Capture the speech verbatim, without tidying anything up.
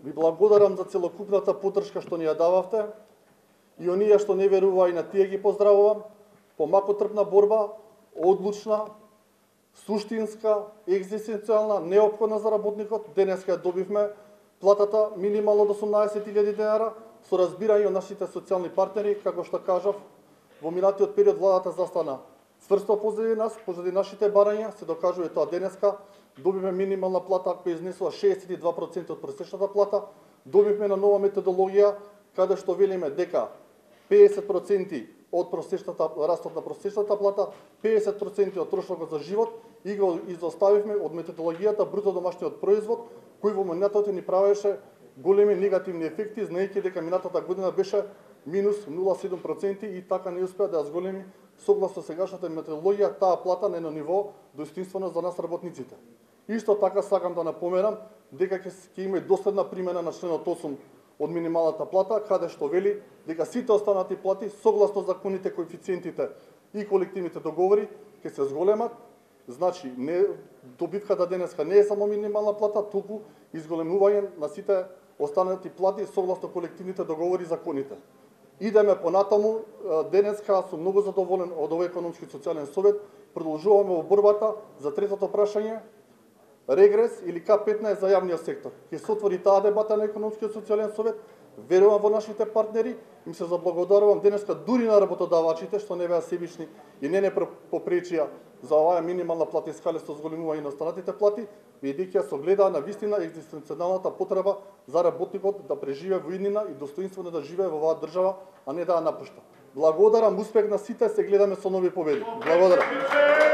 Ви благодарам за целокупната поддршка што ни ја дававте и оние што не верува и на тие ги поздравувам. Помакотрпна борба, одлучна, суштинска, екзистенцијална, неопходна за работникот. Денеска ја добивме платата минимално од осумнаесет илјади денара со разбирање од нашите социјални партнери, како што кажав, во минатиот период владата застана цврсто позади нас, позади нашите барања, се докажува тоа денеска. Добивме минимална плата која изнесува шеесет и два проценти од просечната плата. Добивме на нова методологија каде што велиме дека пеесет проценти од просечната растот на просечната плата, пеесет проценти од трошокот за живот и го изоставивме од методологијата бруто домашниот производ, кој во минатото ни правеше големи негативни ефекти, знаејќи дека минатата година беше минус нула целу седум проценти и така не успеа да ја зголеми согласно сегашната методологија таа плата на едно ниво достоинствено за нас работниците. Исто така сакам да напоменам дека ќе има доследна примена на членот осум од минималната плата, каде што вели дека сите останати плати согласно законите, коефициентите и колективните договори ќе се зголемат. Значи, не добивката денеска не е само минимална плата, туку изголемување на сите останати плати согласно колективните договори и законите. Идеме понатаму, денеска сум многу задоволен од овој економски и социјален совет. Продолжуваме во борбата за третото прашање, регрес или К петнаесет за јавниот сектор. Ќе се отвори таа дебата на економскиот социјален совет. Верувам во нашите партнери, им се заблагодарувам денеска дури на работодавачите што не беа себични и не не попречија за оваа минимална плата искале со зголемување на останатите плати, бидејќи ја согледаа на вистина екзистенцијалната потреба за работникот да преживее во иднина и достоинствено да живее во оваа држава, а не да ја напушта. Благодарам, успех на сите, се гледаме со нови победи. Благодарам.